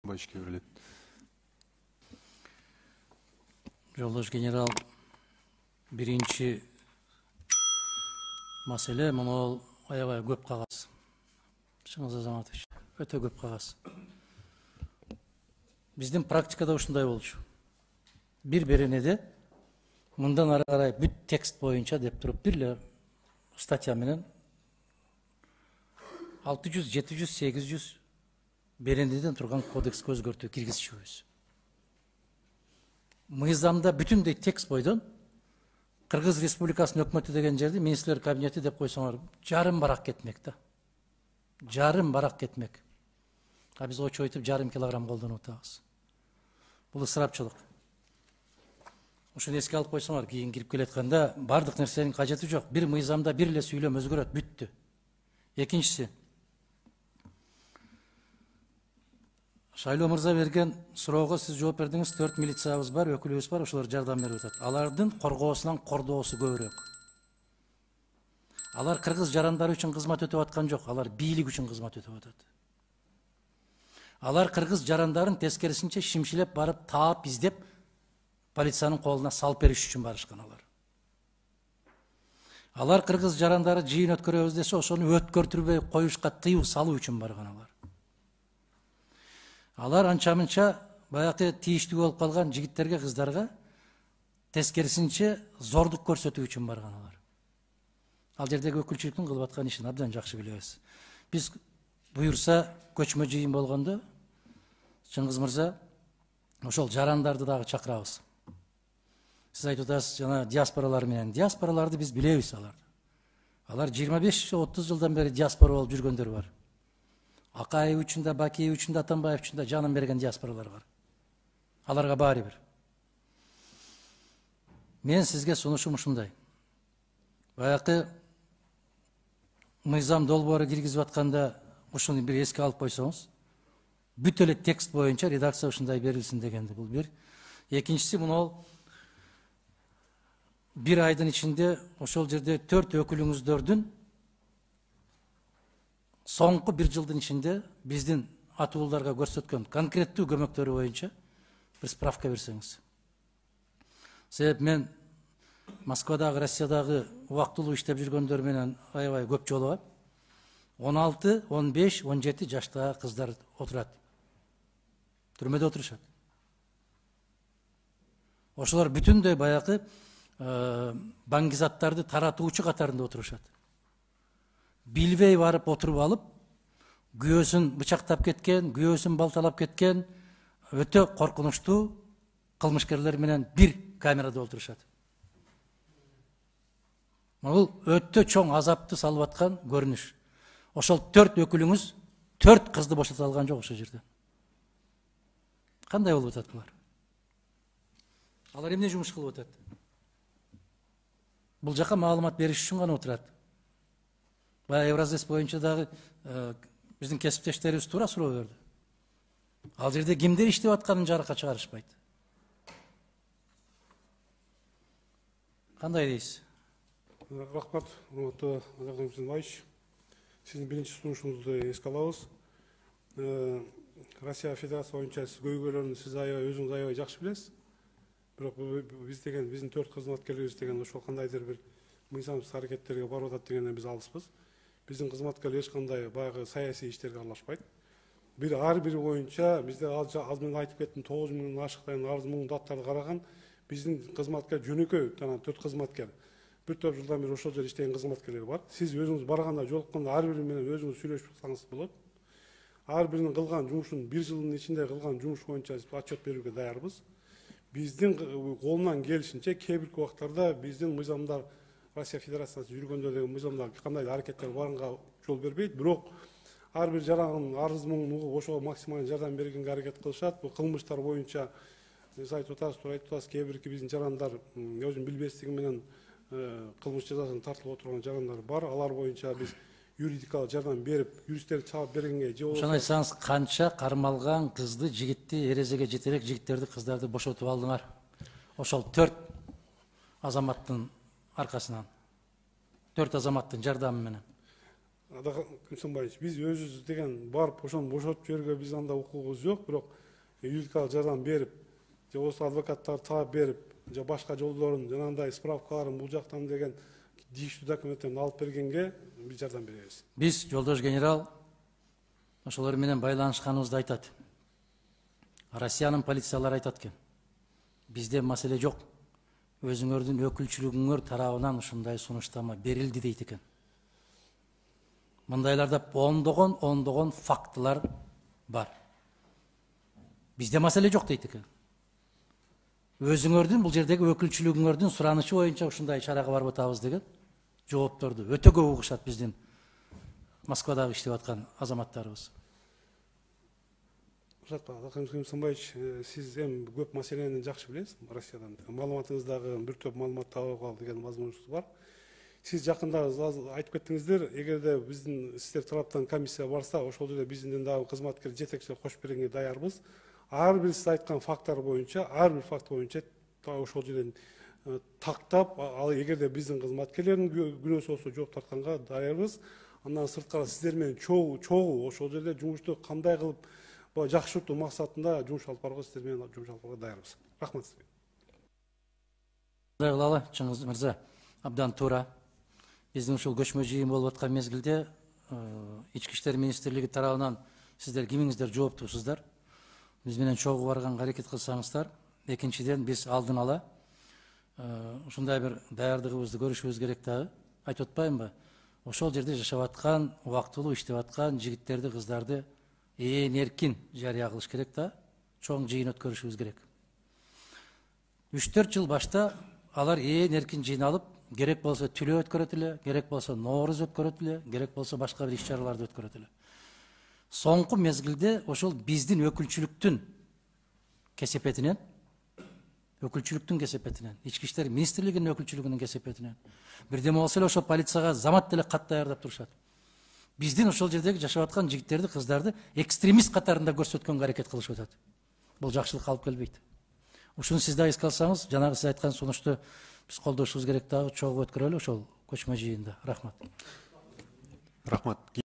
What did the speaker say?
Байышке берилет. Жолдош генерал, биринчи маселе мынол аябай көп кагаз. Шыңыз Азаматович, өтө көп кагаз. Биздин практикада ушундай болчу. Бир беренеде мындан ары карай бүт текст боюнча деп туруп бир эле статья менен 600, 700, 800 беренеден турган кодекске өзгөртүү киргизишибиз. Мыйзамда бүтүндөй текст бойдон Кыргыз Республикасынын өкмөтү деген жерди министрлер кабинети деп койсоңор жарым барак кетмек да. Жарым барак кетмек. А биз очойтуп жарым килограмм колдонуп атабыз. Бул ысырапчылык. Ошону эске алып койсоңор, кийин кирип келатканда бардык нерсенин кажети жок. Бир мыйзамда бир эле сүйлөм өзгөрөт, бүттү. Экинчиси, Шайлоо мырза берген суроого сиз жооп бердиңиз. 4 милициябыз бар, өкүлүбүз бар, ошолор жардам берип атат. Алардын коргоосунан кордоосу көбүрөөк. Алар кыргыз жарандары үчүн кызмат өтөп аткан жок, алар бийлик үчүн кызмат өтөп атат. Алар кыргыз жарандарын тескерисинче шимшилеп барып таап издеп полициянын колуна салып бериш үчүн барышкан алар. Алар кыргыз жарандары жыйын өткөрөбүз десе, ошону өткөртүрбөй коюшка тыюу салуу үчүн барган алар. Алар анча-мынча баягы тийиштүү болуп калган жигиттерге, кыздарга тескерисинче зордук көрсөтүү үчүн барган алар. Ал жердеги өкүлчүлүктүн кылып аткан ишин абдан жакшы билебиз. Биз буюрса көчмө жыйын болгондо, Чыңгыз мырза, ошол жарандарды дагы чакырабыз. Сиз айтып атасыз, жана диаспоралар менен. Диаспораларды биз билебиз аларды. Алар 25-30 жылдан бери диаспора болуп жүргөндөр бар. Акаев үчүн да, Бакиев үчүн да, Атамбаев үчүн да жанын берген диаспоралар бар. Аларга баары бир. Мен сизге сунушум ушундай. Баягы мыйзам долбоору киргизип атканда ушуну бир эске алып койсоңуз, бүт эле текст боюнча редакция ушундай берилсин дегенди. Бул бир. Экинчиси, мынол бир айдын ичинде ошол жерде 4 өкүлүңүздөрдүн соңку бир жылдын ичинде биздин атууларга көрсөткөн конкреттүү көмөктөрү боюнча бир справка берсеңиз. Себеп мен Москвадагы, Россиядагы убактылуу иштеп жүргөндөр менен аябай көп жолугат. 16, 15, 17 жаштагы кыздар отурат. Түрмөдө отурушат. Ошолор бүтүндөй баягы баңгизаттарды таратуучу катарында отурушат. Билбей барып отуруп алып, күйөөсүн бычактап кеткен, күйөөсүн балталап кеткен өтө коркунучтуу кылмышкерлер менен бир камерада отурушат. Бул өтө чоң азапты салып аткан көрүнүш. Ошол 4 өкүлүңүз 4 кызды бошото алган жок ошол жерде. Кандай болуп атат булар? Алар эмне жумуш кылып атат? Бул жака маалымат бериш үчүн гана отурат. Баягы Евразес боюнча дагы биздин кесиптештерибиз туура суроо берди. Ал жерде кимдер иштеп атканын жарыкка чыгарышпайт. Кандай дейсиз? Рахмат, урматтуу Азамат Байыш. Сиздин биринчи сунушуңузду эске алабыз. Россия Федерациясы боюнча көйгөйлөрүн сиз өзүңүз аябай жакшы билесиз. Бирок биз деген биздин 4 кызматкерлерибиз деген ошол кандайдыр бир мыйзамсыз аракеттерге барып атат дегенден биз алыспыз. Биздин кызматкерлер эч кандай баягы саясий иштерге аралашпайт. Ар бири боюнча бизде аз мен айтып кеттим 9 миңден ашыктаган арыз муң даттарды караган биздин кызматкер жөнөкөй 4 кызматкер. Bir топ жылдан бери ошол жерде иштеген кызматкерлер бар. Сиз өзүңүз барганда жолукканда ар бири менен өзүңүз сүйлөшүп атсаңыз болот. Ар биринин кылган жумушун 1 жылдын ичинде кылган жумуш боюнча отчет берүүгө даярбыз. Биздин колунан келишинче кээ бир убактарда биздин мыйзамдар Россия Федерациясы жүргөндө деген мыйзамда кандайдыр аракеттер барганга жол бербейт. Бирок ар бир жарандын арыз муңун угуп ошого максималдуу жардам бергенге аракет кылышат. Бул кылмыштар боюнча сиз айтып атасыз, туура айтып атасыз, кээ бирки биздин жарандар өзүнүн билбестиги менен кылмыш жазасын тартылып отурган жарандар бар. Алар боюнча биз юридикалык жардам берип, юристтер чаап бергенге же болбосо. Ошону айтсаңыз, канча кармалган кызды, жигитти, эрезеге жетерек жигиттерди, кыздарды бошотуп алдыңар? Ошол 4 азаматтын аркасынан, 4 азаматтын жардамы менен. Күнсөнбаевич, биз өзүбүз деген барып ошону бошотуп жиберүүгө биз анда укугубуз жок, бирок юридикалык жардам берип, же болбосо адвокаттарды таап берип, же башка жолдорун, жанагындай справкаларын бул жактан деген тийиштүү документтерин алып бергенге биз жардам беребиз. Биз жолдош генерал ошолор менен байланышканыбызды айтат. Россиянын полициялары айтат экен. Бизде маселе жок. Өзүңөрдүн өкүлчүлүгүңөр тарабынан ушундай сунуштама берилди дейт экен. Мындайларда ондогон фактылар бар. Бизде маселе жок дейт экен. Өзүңөрдүн бул жердеги өкүлчүлүгүңөрдүн суранышы боюнча ушундай чарага барып атабыз деген жоопторду өтө көп угушат биздин Москвадагы иштеп аткан азаматтарыбыз. Күнсөнбаевич, сиз эми көп маселени жакшы билесиз Россиядан. Маалыматыңыздагы бир топ маалыматты алып ал деген возможность бар. Сиз жакында айтып кеттиңиздер, эгерде биздин сиздер тараптан комиссия барса, ошол жерде биздин дагы кызматкер жетекчилик кошуп бергенге даярбыз. Ар бир сиз айткан факттар боюнча, ар бир факт боюнча ошол жерден тактап, ал эгерде биздин кызматкерлердин күнөөсү болсо жооп тартканга даярбыз. Андан сырткары сиздер менен чогуу ошол жерде жумушту кандай кылып жакшыртуу максатында жумуш алып барууга сиздер менен жумуш алып барууга даярбыз. Рахмат сизге. Мындай кылалы, Чыңгыз мырза, абдан туура. Биздин ушул көчмө жыйын болуп аткан мезгилде Ички иштер министрлиги тарабынан сиздер кимиңиздер жооптусуздар. Биз менен чогуу барганга аракет кылсаңыздар. Экинчиден, биз алдын ала ушундай бир даярдыгыбызды көрүшүбүз керек дагы. Айтып атпаймынбы? Ошол жерде жашап аткан, убактылуу иштеп аткан жигиттерди, кыздарды эркин жарыя кылыш керек да, чоң жыйын өткөрүшүбүз керек. 3-4 жыл башта алар эркин жыйналып, керек болсо түлөө өткөрөт эле, керек болсо нооруз өткөрөт эле, керек болсо башка бир иш-чараларды өткөрөт эле. Соңку мезгилде ошол биздин өкүлчүлүктүн кесепетинен, Ички иштер министрлигинин өкүлчүлүгүнүн кесепетинен, бирдеме болсо эле ошол полицияга замат деле кат даярдап турушат. Биздин ошол жердеги жашап аткан жигиттерди, кыздарды экстремист катарында көрсөткөнгө аракет кылышып атат. Бул жакшылыкка алып келбейт. Ушуну сиз да эске алсаңыз, жанагы сиз айткан сунушту биз колдошубуз керек дагы, чогуу өткөрөлү ошол көчмө жыйында. Рахмат. Рахмат.